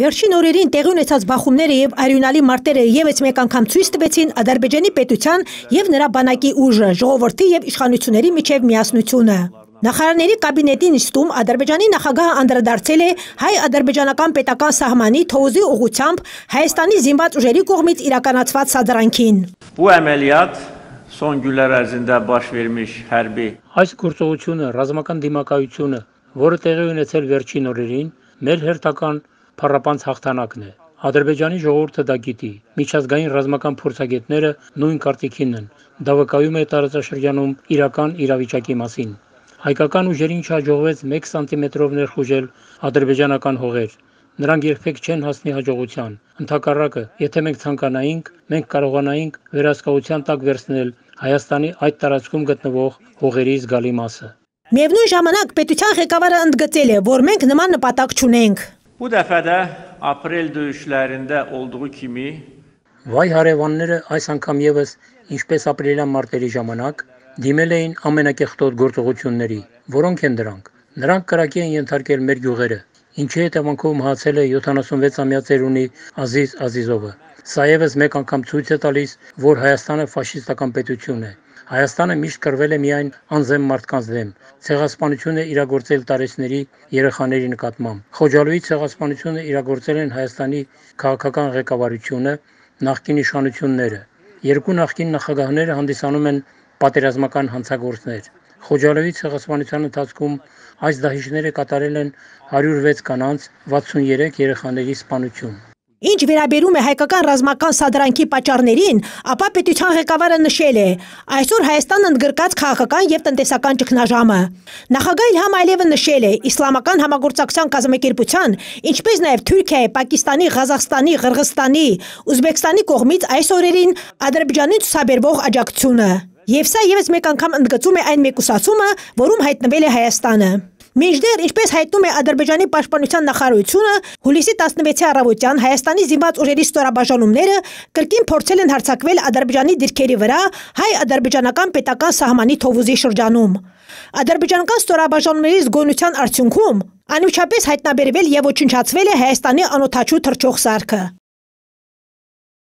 Վերջին օրերին տեղի ունեցած բախումները եւ արյունալի մարտերը եւս մեկ անգամ ցույց տվեցին Ադրբեջանի պետության եւ նրա բանակի ուժը, ժողովրդի եւ իշխանությունների միջև միասնությունը։ Նախարարների կաբինետի նիստում Ադրբեջանի նախագահը անդրադարձել է հայ-ադրբեջանական պետական սահմանի թոզի ուղղությամբ Հայաստանի զինված ուժերի կողմից իրականացված սադրանքին։ Bu əməliyyat son günlər ərzində baş vermiş hərbi Այս գործողությունը ռազմական դիմակայությունը, որը տեղի ունեցել վերջին օրերին, մեր հերթական փառապանց հաղթանակն է։ Ադրբեջանի ժողովուրդը դա գիտի, միջազգային ռազմական փորձագետները նույն կարծիքին են։ Դա վկայում է տարածաշրջանում իրական իրավիճակի մասին։ Հայկական ուժերին չհաջողվեց 1 սանտիմետրով ներխուժել ադրբեջանական հողեր։ Նրանք երբեք չեն հասնի հաջողության։ Ընդհակառակը, եթե մենք ցանկանայինք, մենք կարողանայինք վերահսկողության տակ վերցնել Հայաստանի այդ տարածքում գտնվող հողերի զգալի մասը։ Միևնույն ժամանակ պետության ղեկավարը ընդգծել է, որ մենք նման նպատակ չունենք։ Bu dəfə də aprel döyüşlərində olduğu kimi Վայ հարևանները այս անգամ եւս, ինչպես ապրիլյան մարտերի ժամանակ, դիմել էին ամենակեղտոտ գործողությունների, որոնք են դրանք։ Նրանք կրակի են ենթարկել մեր գյուղերը, ինչի հետևանքով մահացել է 76-ամյա ծերունի Ազիզ Ազիզովը։ Սա եւս մեկ անգամ ցույց է տալիս, որ Հայաստանը ֆաշիստական պետություն է։ Հայաստանը միշտ կրվել է միայն անզեմ մարդկանց դեմ, ցեղասպանություն է իրագործել տարեցների երեխաների նկատմամբ։ Խոջալույի ցեղասպանությունը իրագործել են Հայաստանի քաղաքական ղեկավարությունը, նախկին իշխանությունները։ Երկու նախկին նախագահները հանդիսանում են պատերազմական հանցագործներ։ Խոջալույի ցեղասպանության ընթացքում այս դահիճները կատարել են 106 կանանց, 63 երեխաների սպանություն։ Ինչ վերաբերում է հայկական ռազմական սադրանքի պատճառներին, ապա պետության ղեկավարը նշել է. այսօր Հայաստանը ընդգրկած քաղաքական եւ տնտեսական ճգնաժամը։ Նախագահ Իլհամ Ալիևը նշել է իսլամական համագործակցության կազմակերպության, ինչպես նաեւ Թուրքիայի, Պակիստանի, Ղազախստանի, Ղրղստանի, Ուզբեկստանի կողմից այս օրերին Ադրբեջանին ցուցաբերվող աջակցությունը։ Եվ սա եւս մեկ անգամ ընդգծում է այն մեկուսացումը, որում հայտնվել է Հայաստանը։ Մինչդեռ, ինչպես հայտնում է Ադրբեջանի պաշտպանության նախարարությունը, հուլիսի 16-ի առավոտյան Հայաստանի զինված ուժերի ստորաբաժանումները կրկին փորձել են հարձակվել Ադրբեջանի դիրքերի վրա հայ-ադրբեջանական պետական սահմանի Թովուզի շրջանում։ Ադրբեջանական ստորաբաժանումների զգոնության արդյունքում անմիջապես հայտնաբերվել եւ ոչնչացվել է Հայաստանի անօդաչու թռչող սարքը։